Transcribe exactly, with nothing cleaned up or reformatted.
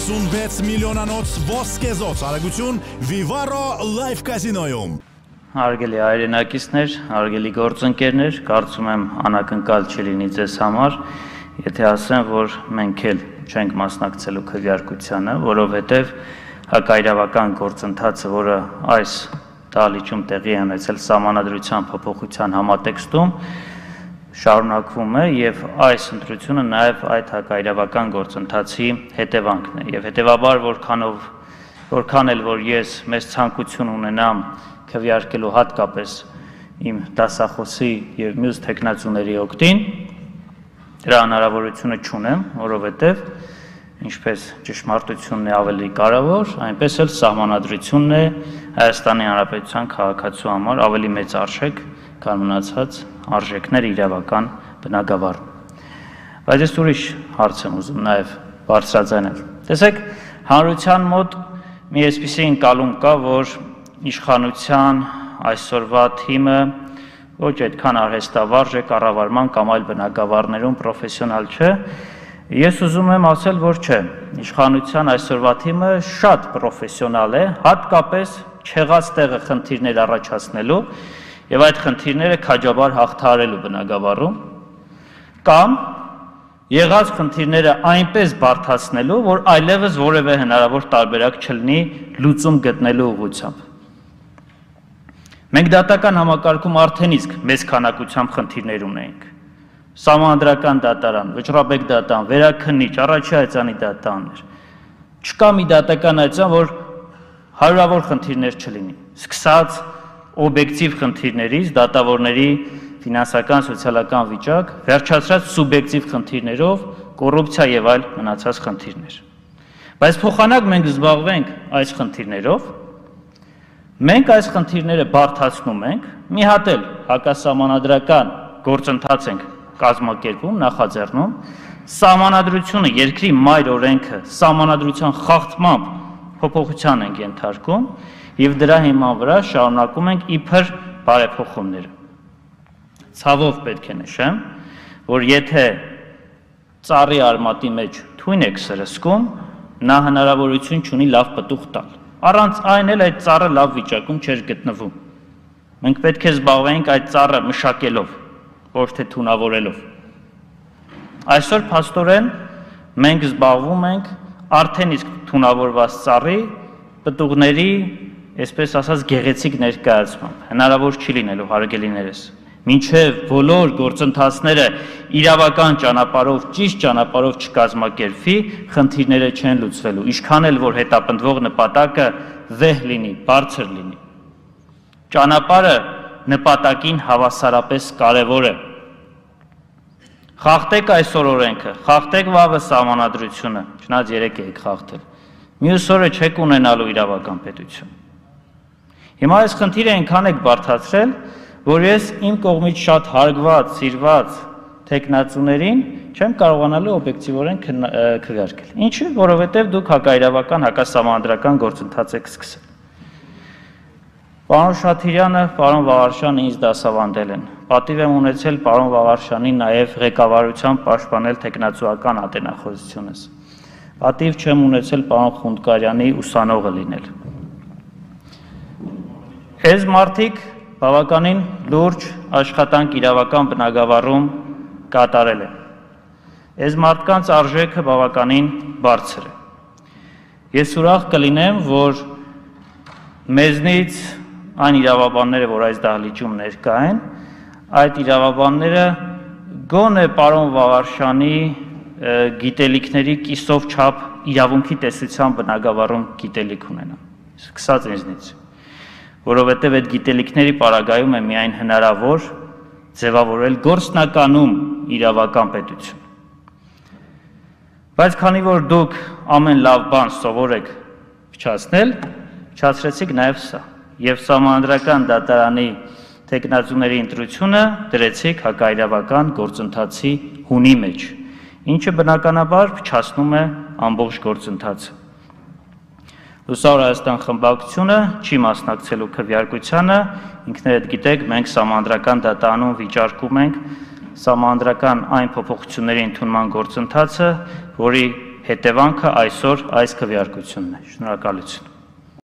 ութսունվեց միլիոնանոց ոսկեզոց արագություն Vivaro Live Casino-ում։ Հարգելի հայրենակիցներ, հարգելի գործընկերներ, կարծում եմ անակնկալ չլինի ձեզ համար, եթե ասեմ, որ մենք էլ չենք մասնակցելու քվեարկությանը, որովհետև հակաիրավական գործընթացը, որը այս դահլիճում տեղի է ունեցել սահմանադրության փոփոխության համատեքստում, շարունակվում է եւ այս ընտրությունը նաեւ այդ հակաիրավական գործընթացի հետևանքն է եւ հետեւաբար որքանով որքան էլ որ ես մեծ ցանկություն ունենամ քվեարկելու հատկապես իմ դասախոսի եւ մյուս տեխնացուների օգտին դրա հնարավորությունը չունեմ, որովհետեւ ինչպես ճշմարտությունն է ավելի կարևոր, այնպես էլ սահմանադրությունն է Հայաստանի Հանրապետության քաղաքացու համար ավելի մեծ արժեք, քան մնացած արժեքներ իրավական բնագավառում։ Բայց ես ուրիշ հարց եմ ուզում նաև բարձրաձայնել։ Տեսեք, հանրության մոտ մի այսպիսի ընկալում կա, որ իշխանության այսօրվա թիմը ոչ այդքան արհեստավարժ է կառավարման կամ այլ բնագավառներում պրոֆեսիոնալ չէ։ Ես ուզում եմ ասել, որ չէ, իշխանության այսօրվա թիմը շատ պրոֆեսիոնալ է, հատկապես չեղած տեղը խնդիրներ առաջացնելու եւ այդ խնդիրները քաջաբար հաղթահարելու բնագավառում կամ եղած խնդիրները այնպես բարդացնելու, որ այլևս որևէ հնարավոր տարբերակ չլինի լուծում գտնելու ուղղությամբ։ Մենք դատական համակարգում արդեն իսկ մեծ քանակությամբ խնդիրներ ունենք։ Սահմանադրական դատարան, վճռաբեկ դատարան, վերաքննիչ, առաջի հայցանի դատարաններ։ Չկա մի դատական հայցան, որ հարյուրավոր խնդիրներ չլինի։ Սկսած օբյեկտիվ խնդիրներից, դատավորների ֆինանսական, սոցիալական վիճակ, վերջացրած սուբյեկտիվ խնդիրներով, կոռուպցիա եւ այլ մնացած խնդիրներ։ Բայց փոխանակ մենք զբաղվենք այս խնդիրներով, մենք այս խնդիրները բարդացնում ենք, մի հատ էլ հակասահմանադրական գործընթաց ենք կազմակերպում, նախաձեռնում, սահմանադրությունը, երկրի մայր օրենքը, սահմանադրության խախտմամբ փոփոխության ենք ենթարկում եւ դրա հիման վրա շարունակում ենք իբր բարեփոխումները։ Ցավով պետք է նշեմ, որ եթե ծառի արմատի մեջ թույն եք սրսկում, նա հնարավորություն չունի լավ պտուղ տալ։ Առանց այն էլ այդ ծառը լավ վիճակում չէր գտնվում։ Մենք պետք է զբաղվենք այդ ծառը մշակելով, ոչ թե թունավորելով։ Այսօր փաստորեն մենք զբաղվում ենք արդեն իսկ թունավորված ծառի պտուղների, այսպես ասած, գեղեցիկ ներկայացմամբ։ Հնարավոր չի լինելու հարգելիներս։ Մինչև բոլոր գործընթացները իրավական ճանապարհով, ճիշտ ճանապարհով չկազմակերպվի, խնդիրները չեն լուծվելու։ Ինչքան էլ որ հետապնդվող նպատակը վեհ լինի, բարձր լինի։ Ճանապարհը նպատակին հավասարապես կարևոր է։ Խախտեք այսօր օրենքը, խախտեք վաղը սահմանադրությունը, չնայած երեք եք խախտել։ Մյուս օրը չեք ունենալու իրավական պետություն։ Հիմա այս խնդիրը այնքան եք բարդացրել, որ ես իմ կողմից շատ հարգված, սիրված տեխնացուներին չեմ կարողանալու օբյեկտիվորեն քվեարկել։ Ինչի՞, որովհետև դուք հակաիրավական, հակասահմանադրական գործընթաց եք սկսել։ Պարոն Շաթիրյանը, պարոն Վաղարշյանը ինձ դասավանդել են։ Պատիվ եմ ունեցել պարոն Վաղարշյանին նաև ղեկավարությամբ պաշտպանել տեխնացուական ատենախոզությունս։ Պատիվ չեմ ունեցել պարոն Խունդկարյանի ուսանողը լինել։ Այս մարդիկ բավականին լուրջ աշխատանք իրավական բնագավառում կատարել են։ Այս մարդկանց արժեքը բավականին բարձր է։ Ես ուրախ կլինեմ, որ մեզնից այն իրավաբանները, որ այս դահլիճում ներկա են, այդ իրավաբանները գոնե պարոն Վաղարշյանի գիտելիքների կիսով չափ իրավունքի տեսության բնագավառում գիտելիք ունենան, սկսած ինձնից, որովհետև այդ գիտելիքների պարագայում է միայն հնարավոր ձևավորել գործնականում իրավական պետություն։ Բայց քանի որ դուք ամեն լավ բան սովոր եք փչացնել, փչացրեցիք նաև սա, եւ սահմանադրական դատարանի տեխնացուների ընտրությունը դրեցիք հակաիրավական գործընթացի հունի մեջ, ինչը բնականաբար փչացնում է ամբողջ գործընթացը։ Լուսավոր Հայաստան խմբակցությունը չի մասնակցելու քվեարկությանը, ինքներդ գիտեք, մենք սահմանադրական դատարանում վիճարկում ենք սահմանադրական այն փոփոխությունների ընդունման գործընթացը, որի Հետևանքը այսօր այս քվեարկությունն է։ Շնորհակալություն։